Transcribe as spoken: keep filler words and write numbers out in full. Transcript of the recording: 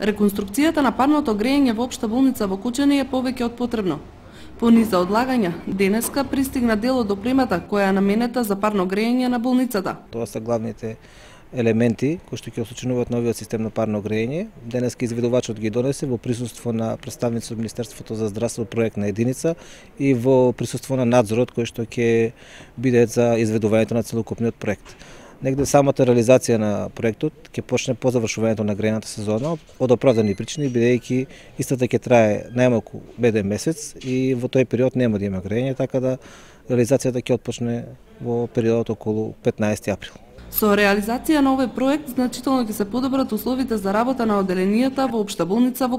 Реконструкцијата на парното грејење во Општа болница во Кучани е повеќе од потребно. По низа одлагања, денеска пристигна дел од опремата која е наменета за парно грејење на болницата. Тоа се главните елементи кои што ќе осочинуваат новиот систем на парно грејење. Денеска изведувачот ги донесе во присуство на представници од Министерството за здравство проектна единица и во присуство на надзорот кој што ќе биде за изведувањето на целокупниот проект. Негде самата реализација на проектот ќе почне по завршувањето на грејната сезона од оправдани причини, бидејќи истата ќе трае најмалку еден месец и во тој период нема да има грејење, така да реализацијата ќе отпочне во периодот околу петнаесети април. Со реализација на овој проект значително ќе се подобрат условите за работа на оделенијата во Општа болница во